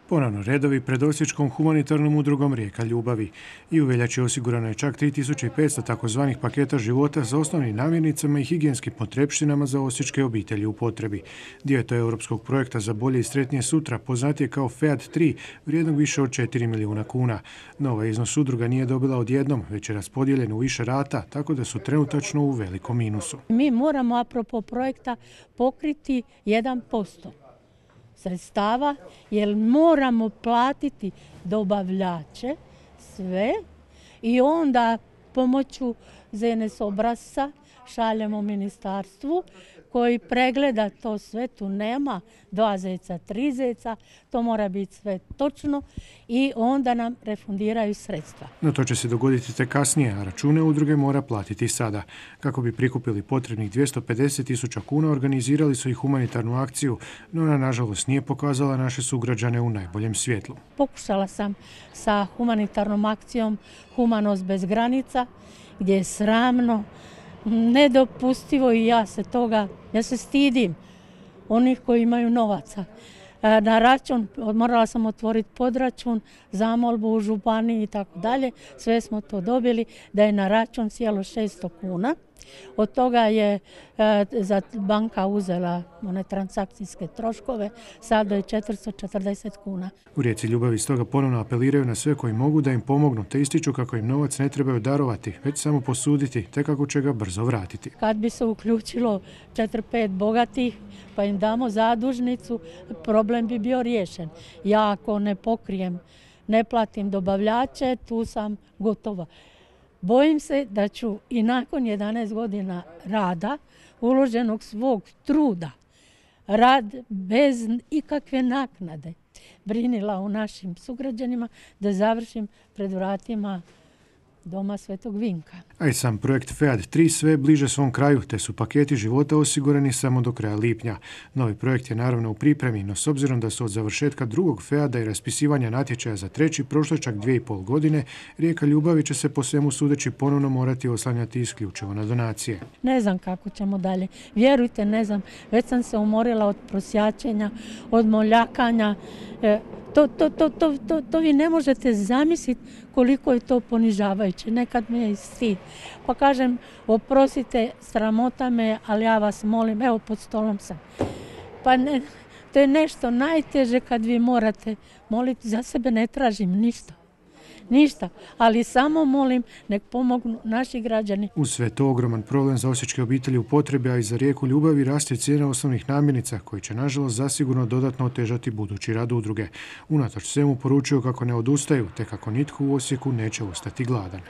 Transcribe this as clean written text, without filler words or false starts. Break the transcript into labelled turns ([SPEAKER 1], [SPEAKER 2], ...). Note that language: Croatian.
[SPEAKER 1] Ponovno redovi pred Osječkom humanitarnom udrugom Rijeka ljubavi. I u veljači osigurano je čak 3500 takozvanih paketa života za osnovnim namirnicama i higijenskim potrepštinama za osječke obitelji u potrebi. Dio je to europskog projekta za bolje i sretnije sutra, poznatije kao FEAD 3, vrijednog više od 4 milijuna kuna. No, ovaj iznos udruga nije dobila odjednom, već je raspodijeljen u više rata, tako da su trenutačno u velikom minusu.
[SPEAKER 2] Mi moramo, apropo projekta, pokriti 1% sredstava, jer moramo platiti dobavljače sve i onda pomoću ZNS obrasca šaljemo ministarstvu koji pregleda to sve, tu nema 2 zeca, 3 zeca, to mora biti sve točno i onda nam refundiraju sredstva.
[SPEAKER 1] No to će se dogoditi tek kasnije, a račune udruge mora platiti sada. Kako bi prikupili potrebnih 250.000 kuna, organizirali su i humanitarnu akciju, no ona nažalost nije pokazala naše sugrađane u najboljem svjetlu.
[SPEAKER 2] Pokušala sam sa humanitarnom akcijom Humanost bez granica, gdje je sramno, nedopustivo i ja se stidim onih koji imaju novaca. Na račun, morala sam otvoriti podračun, zamolbu u županiji i tako dalje. Sve smo to dobili da je na račun sjelo 600 kuna. Od toga je banka uzela one transakcijske troškove, sada je 440 kuna.
[SPEAKER 1] U Rijeci ljubavi stoga ponovno apeliraju na sve koji mogu da im pomognu, te ističu kako im novac ne trebaju darovati, već samo posuditi, te kako će ga brzo vratiti.
[SPEAKER 2] Kad bi se uključilo 4-5 bogatih, pa im damo zadužnicu, problem bi bio riješen. Ja ako ne pokrijem, ne platim dobavljače, tu sam gotova. Bojim se da ću i nakon 11 godina rada, uloženog svog truda, rad bez ikakve naknade, brinila o našim sugrađanima, da završim pred vratima Doma Svetog Vinka.
[SPEAKER 1] A i sam projekt FEAD 3 sve bliže svom kraju, te su paketi života osigurani samo do kraja lipnja. Novi projekt je naravno u pripremi, no s obzirom da su od završetka drugog FEAD-a i raspisivanja natječaja za treći prošlo čak 2,5 godine, Rijeka ljubavi će se po svemu sudeći ponovno morati oslanjati isključivo na donacije.
[SPEAKER 2] Ne znam kako ćemo dalje. Vjerujte, ne znam. Već sam se umorila od prosjačenja, od moljakanja. To vi ne možete zamisliti koliko je to ponižavajuće. Nekad me je stid. Pa kažem, oprostite, sramota me, ali ja vas molim, evo pod stolom sam. Pa ne, to je nešto najteže kad vi morate moliti. Za sebe ne tražim ništa, ali samo molim nek pomognu naši građani.
[SPEAKER 1] Uz sve to ogroman problem za osječke obitelji u potrebi, a i za Rijeku ljubavi raste cijena osnovnih namirnica, koji će nažalost zasigurno dodatno otežati budući rad udruge. Unatoč svemu poručuju kako ne odustaju, te kako nitko u Osijeku neće ostati gladan.